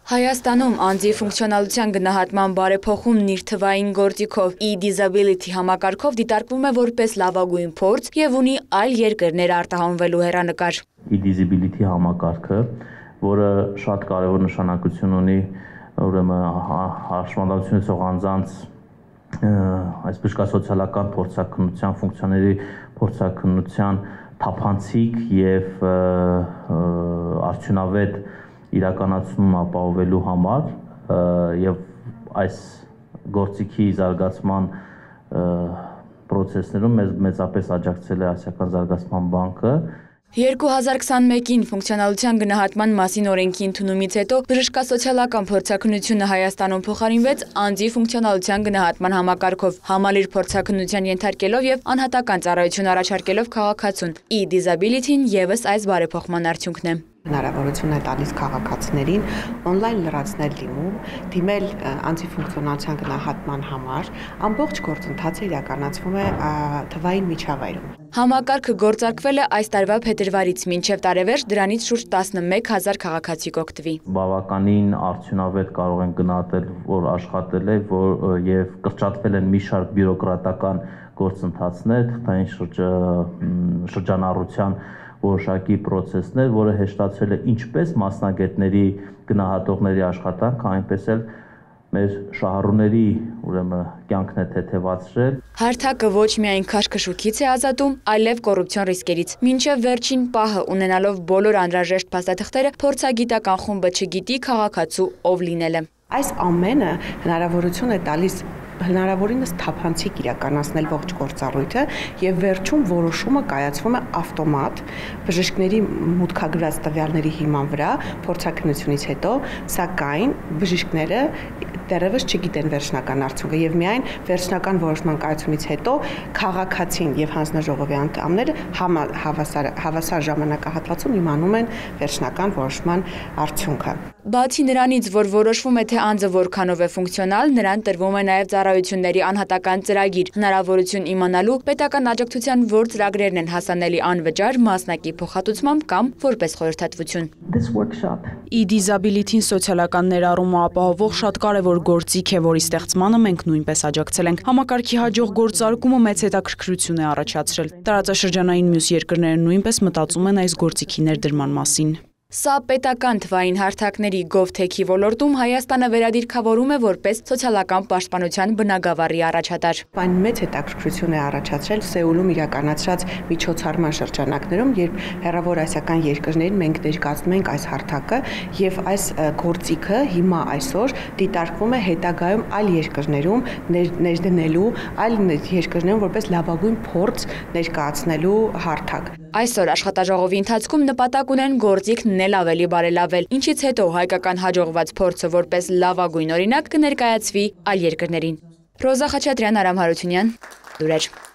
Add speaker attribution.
Speaker 1: Հայաստանում անձի ֆունկցիոնալության գնահատման բարեփոխումն իր թվային գործիքով e-disability համակարգով դիտարկվում է որպես լավագույն փորձ եւ ունի այլ երկրներ արտահանվելու հեռանկար։
Speaker 2: E-disability համակարգը, որը շատ կարևոր նշանակություն ունի ուրեմն հաշմանդամություն ունեցող անձանց այսպես սոցիալական փորձաքննության ֆունկցիաների փորձաքննության թափանցիկ եւ արդյունավետ իրականացում ապահովելու համար եւ այս գործիքի զարգացման process-ներում մեծապես աջակցել է Ասիական զարգացման բանկը
Speaker 1: 2021-ին ֆունկցիոնալության գնահատման մասին օրենքի ընդունումից հետո բժշկասոցիալական փորձաքննությունը Հայաստանում փոխարինվեց անձի ֆունկցիոնալության գնահատման համակարգով, համալիր փորձաքննության ենթարկելով եւ անհատական ծառայություն առաջարկելով քաղաքացուն։ E-disability-ն եւս այս բարեփոխման արդյունքն է։
Speaker 3: Հնարավորություն է տալիս քաղաքացիներին on-line լրացնել դիմել անձի ֆունկցիոնալության գնահատման համար, ամբողջ գործընթացը իրականացվում է թվային միջավայրում։
Speaker 1: Համակարգը գործարկվել է այս տարվա փետրվարից մինչև տարեվերջ դրանից շուրջ 11,000 քաղաքացի կօգտվի։
Speaker 2: Բավականին արդյունավետ կարող են գնահատել, որ աշխատել է, եւ կրճատվել են մի շարք բյուրոկրատական գործընթացներ, թղթային շրջանառության որոշակի process-ներ, որը հեշտացրել է ինչպես մասնագետների գնահատողների աշխատանք, այնպես էլ մեր շահառուների ուրեմն կյանքն է թեթևացրել։
Speaker 1: Հարթակը ոչ միայն քաշքշուկից է ազատում, այլև կոռուպցիոն ռիսկերից։ Մինչև վերջին պահը ունենալով բոլոր անհրաժեշտ փաստաթղթերը, փորձագիտական խումբը չգիտի քաղաքացու ով լինել է։
Speaker 3: Այս ամենը հնարավորություն է տալիս հնարավորինս թափանցիկ իրականացնել ողջ գործառույթը եւ վերջում որոշումը կայացվում է ավտոմատ բժիշկների մուտքագրած տվյալների հիման վրա փորձաքննությունից հետո, սակայն բժիշկները դեռևս չգիտեն վերջնական արդյունքը եւ միայն վերջնական որոշման կայացումից հետո քաղաքացին եւ հանձնաժողովի անդամները հավասար ժամանակահատվածում իմանում են վերջնական որոշման արդյունքը։
Speaker 1: Բացի նրանից, որ որոշվում է թե անձը որքանով է ֆունկցիոնալ, նրան տրվում է նաև ծառայությունների անհատական ծրագիր, հնարավորություն իմանալու պետական աջակցության որ ծրագրերն են հասանելի անվճար, մասնակի փոխհատուցմամբ կամ որպես խորհրդատվություն։
Speaker 4: E-disability-ն սոցիալական ներառումը ապահովող շատ կարևոր գործիք է, որի ստեղծմանը մենք նույնպես աջակցել ենք։ Համակարգի հաջող գործարկումը մեծ հետաքրքրություն է առաջացրել։ Տարածաշրջանային մյուս երկրները նույնպես մտածում են այս գործիքի ներդրման մասին։
Speaker 1: Սա պետական թվային հարթակների GovTech-ի ոլորտում Հայաստանը վերադիրքավորում է որպես սոցիալական պաշտպանության բնագավառի առաջատար։
Speaker 3: Այն մեծ հետաքրքրություն է առաջացրել Սեուլում իրականացրած միջոցառման շրջանակներում, երբ հեռավոր ասիական երկրներին մենք ներկայացնում ենք այս հարթակը եւ այս գործիքը հիմա այսօր դիտարկվում է հետագայում այլ երկրներում ներդնելու, այլ երկրներում որպես լավագույն փորձ ներկայացնելու հարթակ։
Speaker 1: Այսօր աշխատաժողովի ընթացքում նպատակ ունեն գործիքն էլ ավելի բարելավել, ինչից հետո հայկական հաջողված փորձը որպես լավագույն օրինակ կներկայացվի այլ երկրներին։ Ռոզա Խաչատրյան, Արամ Հարությունյան, լուրեր։